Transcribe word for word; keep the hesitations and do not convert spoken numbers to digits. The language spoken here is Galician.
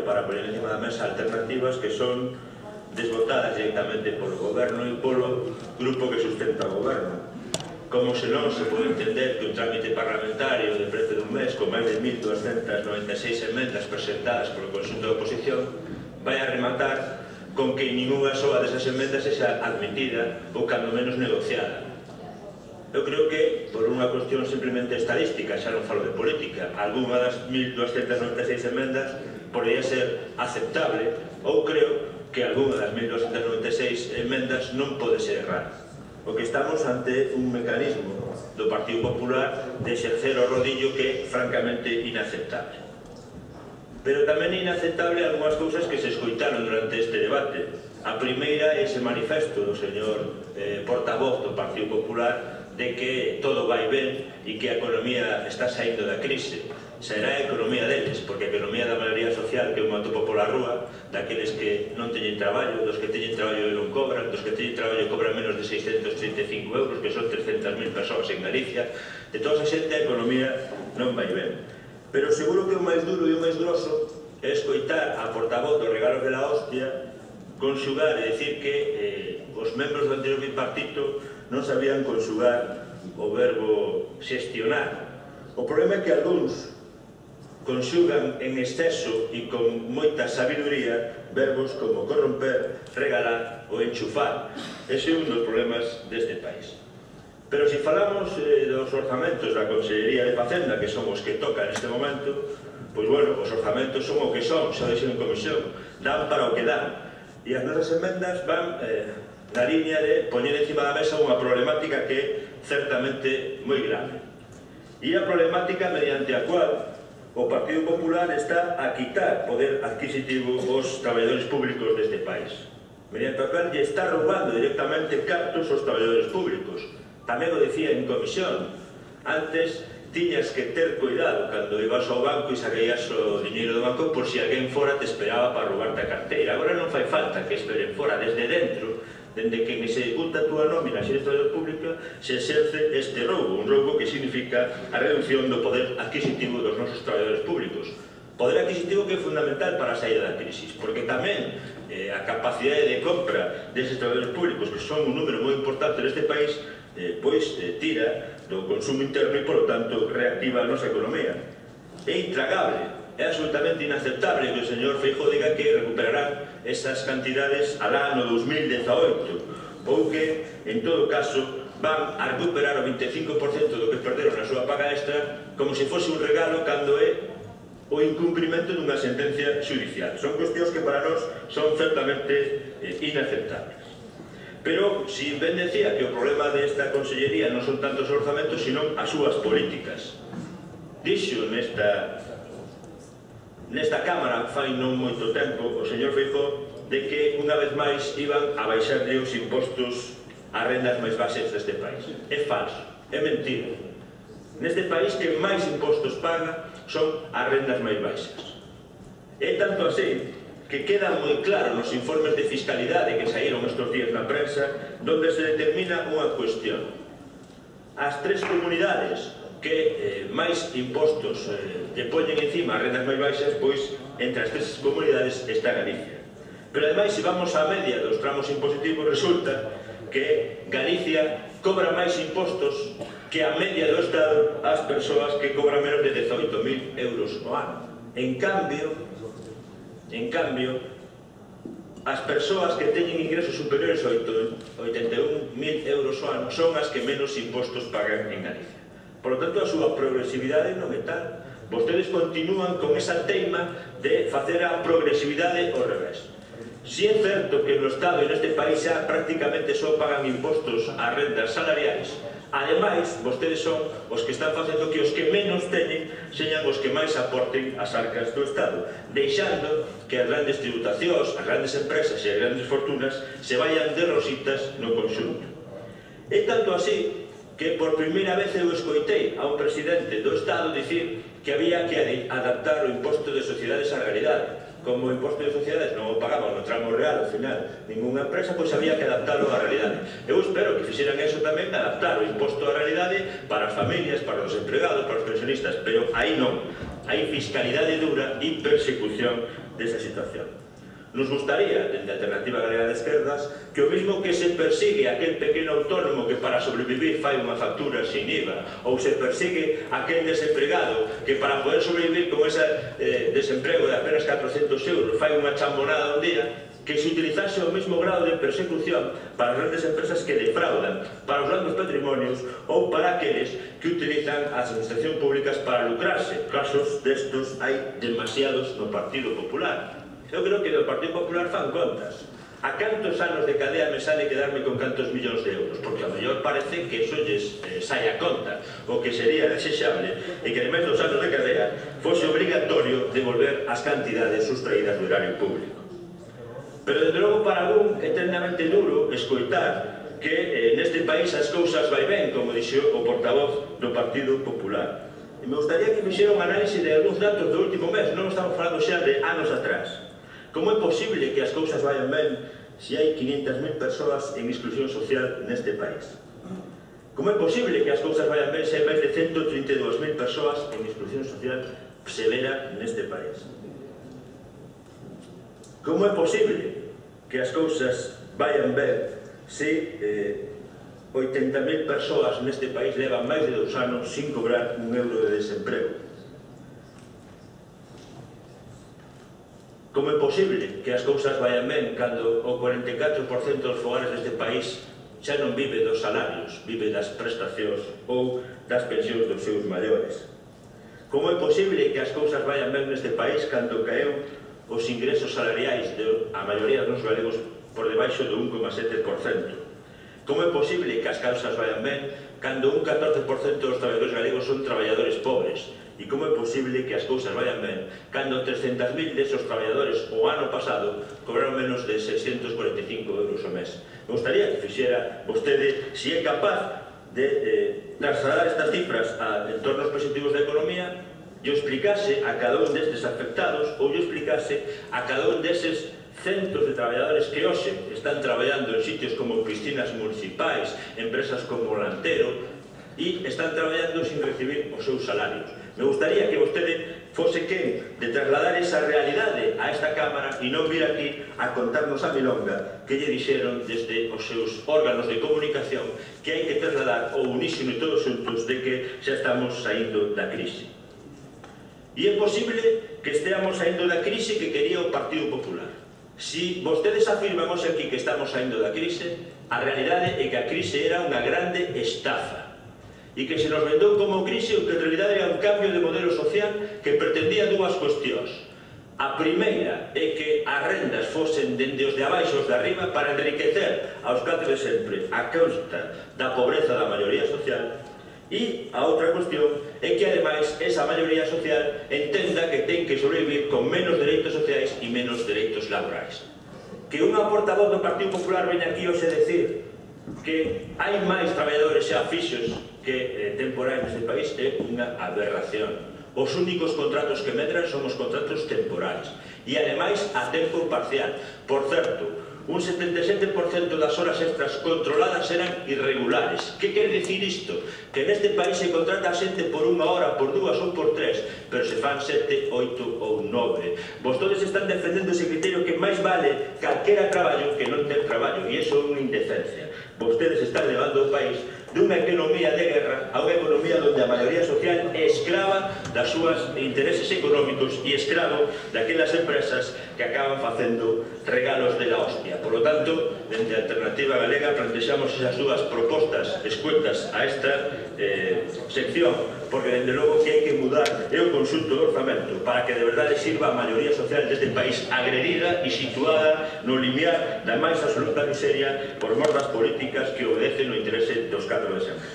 para poner encima da mesa alternativas que son desbotadas directamente polo goberno e polo grupo que sustenta o goberno. Como se non se pode entender que un trámite parlamentario de prezo dun mes con máis de mil doscientas noventa e seis emendas presentadas polo conxunto da oposición vai a rematar con que ninguna soa desas emendas sexa admitida ou cando menos negociada. Eu creo que, por unha cuestión simplemente estadística, xa non falo de política, algunha das mil doscientas noventa e seis emendas podría ser aceptable, ou creo que algunha das mil doscientas noventa e seis emendas non pode ser errada. O que estamos ante un mecanismo do Partido Popular de exercer o rodillo que é francamente inaceptable. Pero tamén é inaceptable algunhas cousas que se escoitaron durante este debate. A primeira é ese manifesto do señor eh, portavoz do Partido Popular de que todo vai ben e que a economía está saindo da crise. Será a economía deles, porque a economía da maioría social que eu me atopo pola rúa, daqueles que non teñen traballo, dos que teñen traballo e non cobran, dos que teñen traballo e cobran menos de seiscentos trinta e cinco euros, que son trescentas mil persoas en Galicia, de toda esa xente a economía non vai ben. Pero seguro que o máis duro e o máis grosso é escoitar a portavoz dos regalos de la hostia conxugar e dicir que eh, os membros do anterior bipartito non sabían conxugar o verbo xestionar. O problema é que algúns conxugan en exceso e con moita sabiduría verbos como corromper, regalar ou enchufar. Ese é un dos problemas deste país. Pero se falamos eh, dos orzamentos da Consellería de Facenda, que son os que tocan neste momento, pois, bueno, os orzamentos son o que son, xa deixen en comisión, dan para o que dan. E as nosas emendas van eh, na línea de poñer encima da mesa unha problemática que é certamente moi grave. E a problemática mediante a cual o Partido Popular está a quitar poder adquisitivo aos traballadores públicos deste país. Mediante a cual lle está roubando directamente cartos aos traballadores públicos. Tamén o decía en comisión, antes tiñas que ter cuidado cando ibas ao banco e sacaías o diñeiro do banco por si alguén fora te esperaba para roubarte a carteira. Agora non fai falta que esperen fora, desde dentro, dende que se executa a túa nómina se eres traballador público, se exerce este roubo, un roubo que significa a reducción do poder adquisitivo dos nosos traballadores públicos. Poder adquisitivo que é fundamental para a saída da crisis, porque tamén eh, a capacidade de compra deses traballadores públicos, que son un número moi importante neste país, Eh, pois eh, tira do consumo interno e, por lo tanto, reactiva a nosa economía. É intragable, é absolutamente inaceptable que o señor Feijóo diga que recuperarán esas cantidades alá no dos mil dezaoito, ou que, en todo caso, van a recuperar o vinte e cinco por cento do que perderon na súa paga extra como se fose un regalo cando é o incumprimento dunha sentencia judicial. Son cuestións que para nós son certamente eh, inaceptables. Pero, si ben decía que o problema desta consellería non son tantos orzamentos, sino as súas políticas. Dixo nesta, nesta Cámara, fai non moito tempo, o señor Feijóo, de que unha vez máis iban a baixarlle os impostos ás rendas máis baixas deste país. É falso, é mentira. Neste país que máis impostos paga son as rendas máis baixas. É tanto así que queda moi claro nos informes de fiscalidade que saíron estes días na prensa, donde se determina unha cuestión. As tres comunidades que eh, máis impostos eh, que poñen encima as rendas máis baixas, pois, entre as tres comunidades está Galicia. Pero, ademais, se vamos á media dos tramos impositivos, resulta que Galicia cobra máis impostos que a media do Estado as persoas que cobran menos de dezaoito mil euros ao ano. En cambio, En cambio, as persoas que teñen ingresos superiores a oitenta e un mil euros ao ano son as que menos impostos pagan en Galicia. Por lo tanto, a súa progresividade non é tal. Vostedes continúan con esa teima de facer a progresividade ao revés. Si é certo que no Estado e neste país xa prácticamente só pagan impostos ás rendas salariais, ademais, vostedes son os que están facendo que os que menos teñen señan os que máis aporten as arcas do Estado, deixando que as grandes tributacións, as grandes empresas e as grandes fortunas se vayan de rositas no conxunto. É tanto así que por primeira vez eu escoitei a un presidente do Estado dicir que había que adaptar o imposto de sociedades á realidade. Como o imposto de sociedades non o pagaban no tramo real, ao final, ninguna empresa, pois había que adaptarlo á realidade. Eu espero que fixeran eso tamén, adaptar o imposto á realidade para as familias, para os empregados, para os pensionistas, pero aí non. hai fiscalidade dura e persecución desa situación. Nos gustaría, dende a Alternativa Galega de Esquerdas, que o mismo que se persigue aquel pequeno autónomo que para sobrevivir fai unha factura sin I V A, ou se persigue aquel desempregado que para poder sobrevivir con ese eh, desemprego de apenas catrocentos euros fai unha chambonada un día, que se utilizase o mesmo grado de persecución para as grandes empresas que defraudan, para os grandes patrimonios ou para aqueles que utilizan as administracións públicas para lucrarse. Casos destos hai demasiados no Partido Popular. Eu creo que do Partido Popular fan contas. A cantos anos de cadea me sale quedarme con cantos millóns de euros? Porque a mellor parece que eso lles eh, sai a conta. O que sería desexable e que ademais dos anos de cadea fose obrigatorio devolver as cantidades sustraídas do erario público. Pero, desde logo, para algún é eternamente duro escoitar que eh, neste país as cousas vai ben, como dixo o portavoz do Partido Popular. E me gustaría que fixera un análise de algúns datos do último mes, non estamos falando xa de anos atrás. Como é posible que as cousas vayan ben se hai quinhentas mil persoas en exclusión social neste país? Como é posible que as cousas vayan ben se hai máis de ciento trinta e dúas mil persoas en exclusión social severa neste país? Como é posible que as cousas vayan ben se eh, oitenta mil persoas neste país levan máis de dous anos sin cobrar un euro de desemprego? Como é posible que as cousas vayan ben cando o cuarenta e catro por cento dos fogares deste país xa non vive dos salarios, vive das prestacións ou das pensións dos seus maiores? Como é posible que as cousas vayan ben neste país cando caeu os ingresos salariais de a maioría dos galegos por debaixo do un coma sete por cento? Como é posible que as cousas vayan ben cando un catorce por cento dos traballadores galegos son traballadores pobres? E como é posible que as cousas vayan ben cando trescentos mil desos traballadores o ano pasado cobraron menos de seiscentos cuarenta e cinco euros ao mes? Me gustaría que fixera vostede se é capaz de eh, trasladar estas cifras a entornos positivos da economía e o explicase a cada un destes afectados ou o explicase a cada un deses centos de traballadores que hoxe están traballando en sitios como piscinas municipais, empresas como Lantero, e están traballando sin recibir os seus salarios. Me gustaría que vostede fose quen de trasladar esa realidade a esta Cámara e non vir aquí a contarnos a milonga que lle dixeron desde os seus órganos de comunicación que hai que trasladar o unísono e todos xuntos de que xa estamos saindo da crise. E é posible que esteamos saindo da crise que quería o Partido Popular. Si vostedes afirman hoxe aquí que estamos saindo da crise, a realidade é que a crise era unha grande estafa e que se nos vendou como crise o que en realidade era un cambio de modelo social que pretendía dúas cuestións. A primeira é que as rendas fosen dende os de abaixo os de arriba para enriquecer aos catro de sempre a costa da pobreza da maioría social. E a outra cuestión é que, ademais, esa maioría social entenda que ten que sobrevivir con menos dereitos sociais e menos dereitos laborais. Que unha portavoz do Partido Popular veña aquí hoxe decir que hai máis traballadores xa fixos que eh, temporais neste país é unha aberración. Os únicos contratos que medran son os contratos temporais e, ademais, a tempo parcial. Por certo, un setenta e sete por cento das horas extras controladas eran irregulares. Que quer dicir isto? Que neste país se contrata a xente por unha hora, por dúas ou por tres, pero se fan sete, oito ou nove. Vostedes están defendendo ese criterio que máis vale calquera traballo que non ter traballo, e iso é unha indecencia. Vostedes están levando o país dunha economía de guerra a unha economía onde a maioría social é escrava das súas intereses económicos e escravo daquelas empresas que acaban facendo regalos de la hostia. Por lo tanto, dende a Alternativa Galega plantexamos esas dúas propostas escuetas a esta eh, sección, porque dende logo que hai que mudar é o conxunto do orzamento para que de verdade sirva a maioría social deste país agredida e situada no limiar da máis absoluta miseria por mor das políticas que obedecen o interese dos catro de sempre.